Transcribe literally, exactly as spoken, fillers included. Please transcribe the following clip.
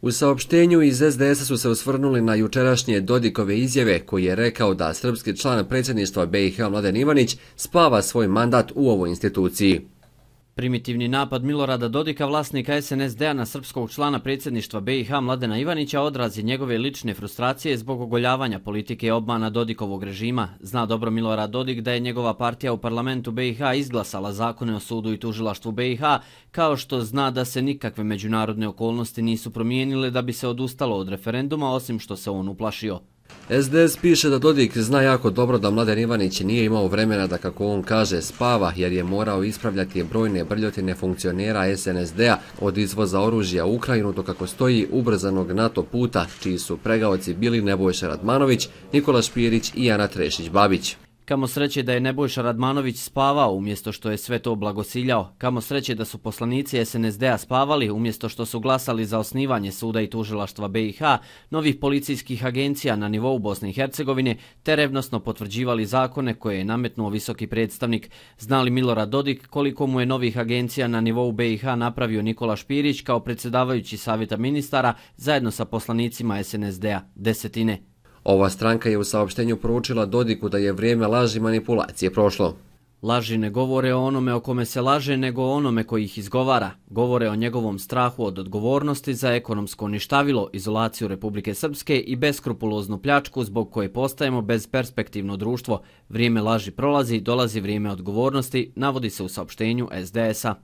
U saopštenju iz es de es a su se osvrnuli na jučerašnje Dodikove izjave koji je rekao da srpski član predsjedništva be i ha Mladen Ivanić spava svoj mandat u ovoj instituciji. Primitivni napad Milorada Dodika, vlasnika es en es de a, na srpskog člana predsjedništva be i ha Mladena Ivanića odraz je njegove lične frustracije zbog ogoljavanja politike i obmana Dodikovog režima. Zna dobro Milorad Dodik da je njegova partija u parlamentu be i ha izglasala zakone o sudu i tužilaštvu be i ha, kao što zna da se nikakve međunarodne okolnosti nisu promijenile da bi se odustalo od referenduma, osim što se on uplašio. es de es piše da Dodik zna jako dobro da Mladen Ivanić nije imao vremena da, kako on kaže, spava jer je morao ispravljati brojne brljotine funkcionera es en es de a od izvoza oružja u Ukrajinu do, kako stoji, ubrzanog NATO puta, čiji su pregaoci bili Nebojša Radmanović, Nikola Špirić i Ana Trešić-Babić. Kamo sreće da je Nebojša Radmanović spavao umjesto što je sve to blagosiljao. Kamo sreće da su poslanici es en es de a spavali umjesto što su glasali za osnivanje suda i tužilaštva be i ha, novih policijskih agencija na nivou Bosne i Hercegovine, te revnosno potvrđivali zakone koje je nametnuo visoki predstavnik. Zna li Milorad Dodik koliko mu je novih agencija na nivou be i ha napravio Nikola Špirić kao predsjedavajući savjeta ministara zajedno sa poslanicima es en es de a? Desetine. Ova stranka je u saopštenju poručila Dodiku da je vrijeme laži i manipulacije prošlo. Laži ne govore o onome o kome se laže, nego o onome koji ih izgovara. Govore o njegovom strahu od odgovornosti za ekonomsko ništavilo, izolaciju Republike Srpske i beskrupuloznu pljačku zbog koje postajemo bezperspektivno društvo. Vrijeme laži prolazi, dolazi vrijeme odgovornosti, navodi se u saopštenju es de es a.